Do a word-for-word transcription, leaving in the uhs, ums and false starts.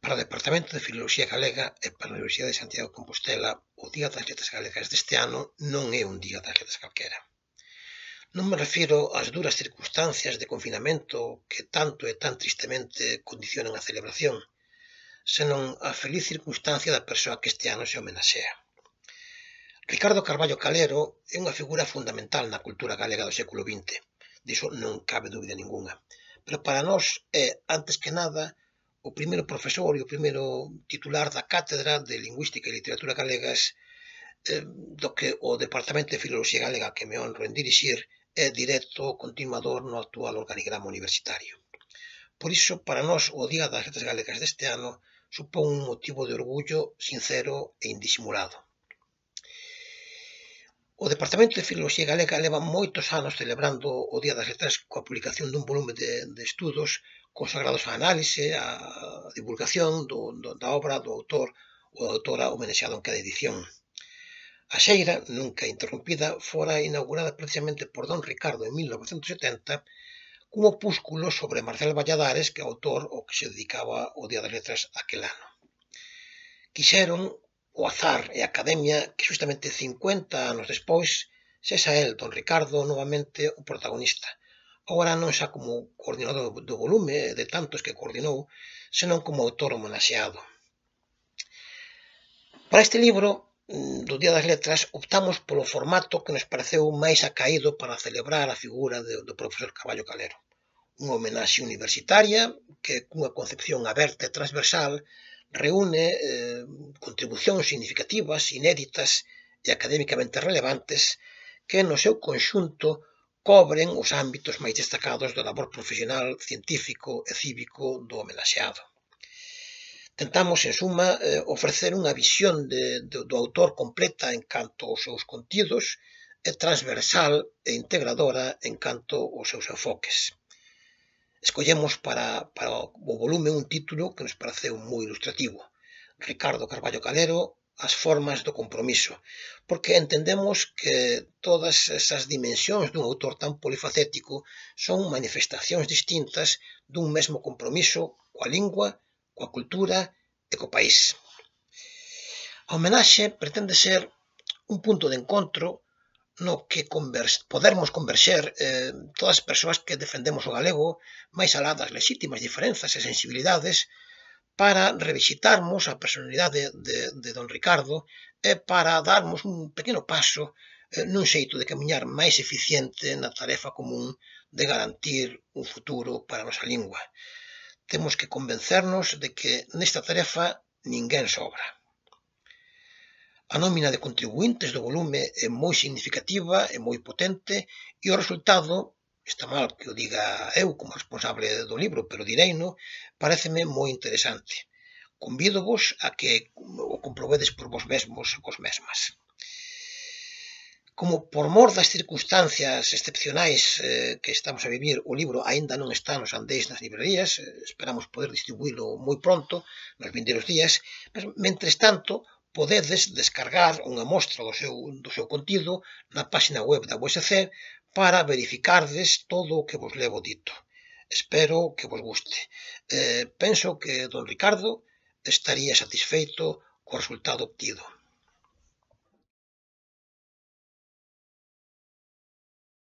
Para o Departamento de Filoloxía Galega e para a Universidade de Santiago de Compostela, o Día das Letras Galegas deste ano non é un Día das Letras calquera. Non me refiro ás duras circunstancias de confinamento que tanto e tan tristemente condicionan a celebración, senón á feliz circunstancia da persoa que este ano se homenaxea. Ricardo Carballo Calero é unha figura fundamental na cultura galega do século vinte, diso non cabe dúbida ningunha, pero para nós é, antes que nada, o primeiro profesor e o primeiro titular da Cátedra de Lingüística e Literatura Galegas eh, do que o Departamento de Filoloxía Galega, que me honro en dirixir, é directo continuador no actual organigrama universitario. Por iso, para nós, o Día das Letras Galegas deste ano supón un motivo de orgullo sincero e indisimulado. O Departamento de Filoloxía Galega leva moitos anos celebrando o Día das Letras coa publicación dun volume de, de estudos consagrados á análise, á divulgación do, do, da obra do autor ou da autora homenaxeado en cada edición. A xeira, nunca interrompida, fora inaugurada precisamente por don Ricardo en mil novecentos setenta cun opúsculo sobre Marcel Valladares, que é o autor ao que se dedicaba o Día das Letras aquel ano. Quixeron o azar e a academia que justamente cincuenta anos despois sexa el, don Ricardo, novamente o protagonista, agora non xa como coordinador do volume de tantos que coordinou, senón como autor homenaxeado. Para este libro do Día das Letras optamos polo formato que nos pareceu máis acaído para celebrar a figura do profesor Carballo Calero. Unha homenaxe universitaria que, cunha concepción aberta e transversal, reúne eh, contribucións significativas, inéditas e académicamente relevantes que, no seu conxunto, cobren os ámbitos máis destacados do labor profesional, científico e cívico do homenaxeado. Tentamos, en suma, eh, ofrecer unha visión de, de, do autor completa en canto aos seus contidos e transversal e integradora en canto aos seus enfoques. Escollemos para, para o volume un título que nos pareceu moi ilustrativo: Ricardo Carballo Calero, as formas do compromiso, porque entendemos que todas esas dimensións dun autor tan polifacético son manifestacións distintas dun mesmo compromiso coa lingua, coa cultura e co país. A homenaxe pretende ser un punto de encontro no que converse, podermos converxer eh, todas as persoas que defendemos o galego, máis alá das lexítimas diferenzas e sensibilidades, para revisitarmos a personalidade de, de don Ricardo e para darmos un pequeno paso eh, nun xeito de camiñar máis eficiente na tarefa común de garantir un futuro para a nosa lingua. Temos que convencernos de que nesta tarefa ninguén sobra. A nómina de contribuintes do volume é moi significativa e moi potente e o resultado, está mal que o diga eu como responsable do libro, pero direino, pareceme moi interesante. Convídovos a que o comprobedes por vos mesmos e vos mesmas. Como por mor das circunstancias excepcionais eh, que estamos a vivir, o libro aínda non está nos andéis nas librerías, eh, esperamos poder distribuílo moi pronto, nos vindeiros días, mas, mentres tanto, podedes descargar unha mostra do seu, do seu contido na página web da U S C para verificardes todo o que vos levo dito. Espero que vos guste. Eh, penso que don Ricardo estaría satisfeito co resultado obtido.